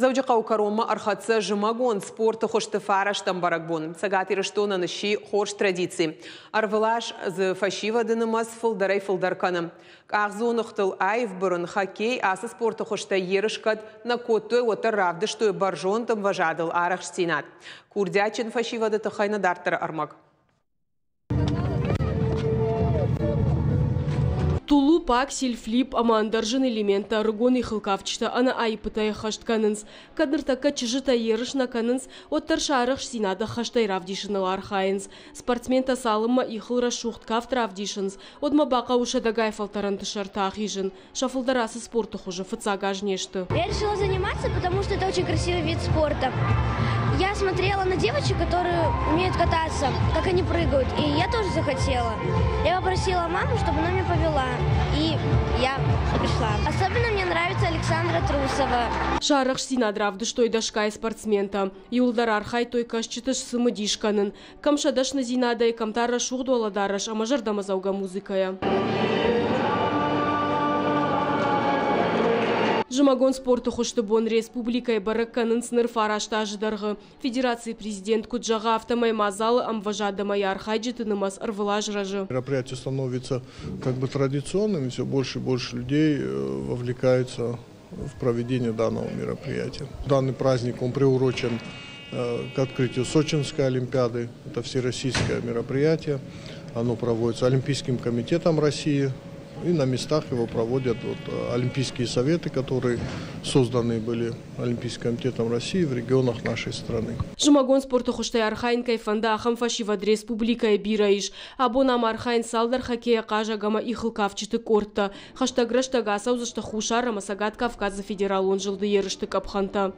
Дзӕуджыхъӕуы кӕронмӕ ӕрхӕццӕ зымӕгон спорты хуызты фарӕстӕм бӕрӕгбон. Цӕгат Ирыстонӕн сси хорз традици. Ӕрвылаз дзы фӕсивӕды нымӕц фылдӕрӕй-фылдӕр кӕны. Къахдзоныгътыл аив бырын, хоккей ацы спорты хуызтӕй ерыс кӕд нӕ кодтой, уӕддӕр равдыстой бӕрзонд ӕмвӕзадыл арӕхстдзинад. Курдиатджын фӕсивӕды тыххӕй нӕ дарддӕры ӕрмӕг. Тулуп, аксель, флип ӕмӕ ӕндӕр зын элементтӕ ӕрыгон ихылкафджытӕ ӕнӕ аиппытӕй ӕххӕст кӕнынц. Кӕд ныртӕккӕ чызджытӕ ерыс нӕ кӕнынц, уӕддӕр сӕ арӕхстдзинад ӕххӕстӕй равдисыныл архайынц. Спортсментӕ цалынмӕ ихыл рӕсугъд кафт равдисынц, уӕдмӕ бахъӕуы сӕдӕгай фӕлтӕрӕнты сӕрты ахизын. Сӕ фылдӕр ацы спорты хуызы фыццаг аз не сты. Я решила заниматься, потому что это очень красивый вид спорта. Я смотрела на девочек, которые умеют кататься, как они прыгают, и я тоже захотела. Я попросила маму, чтобы она меня повела, и я пришла. Особенно мне нравится Александра Трусова. Сӕ арӕхстдзинад равдыстой дӕсгай спортсментӕ. Иуылдӕр архайдтой кӕсджыты сцымыдис кӕнын. Кӕм сӕ дӕсныдзинадӕй, кӕм та рӕсугъд уӕлӕдарӕс ӕмӕ зӕрдӕмӕдзӕугӕ музыкӕйӕ. Зымӕгон спорты хуызты бон республикӕйы бӕрӕг кӕнынц ныр фараст азы дӕргъы. Федерацийы президент куыд зӕгъы, афтӕмӕй мадзалы ӕмвӕзад ӕмӕ йӕ архайджыты нымӕц ӕрвылаз рӕзы. Мероприятие становится как бы традиционным, все больше и больше людей вовлекаются в проведение данного мероприятия. Данный праздник, он приурочен к открытию Сочинской Олимпиады. Это всероссийское мероприятие. Оно проводится Олимпийским комитетом России. И на местах его проводят вот Олимпийские советы, которые созданы были Олимпийским комитетом России в регионах нашей страны. Зымӕгон спорты хуызтӕй архайын кӕй фӕнды, ахӕм фӕсивӕд республикӕйы бирӕ ис. Абон ам архайынц цалдӕр хоккейӕ хъазӕг ӕмӕ ихылкафджыты къордтӕ. Хӕстӕг рӕстӕг ацӕудзысты Хуссар ӕмӕ Цӕгат Кавказы федералон зылды ерысты къӕпхӕнтӕ.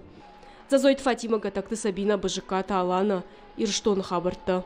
Дзӕзойты Фатимӕ, Гӕтӕгты Сабинӕ, Бызыккаты Алана, Ирыстоны хабӕрттӕ.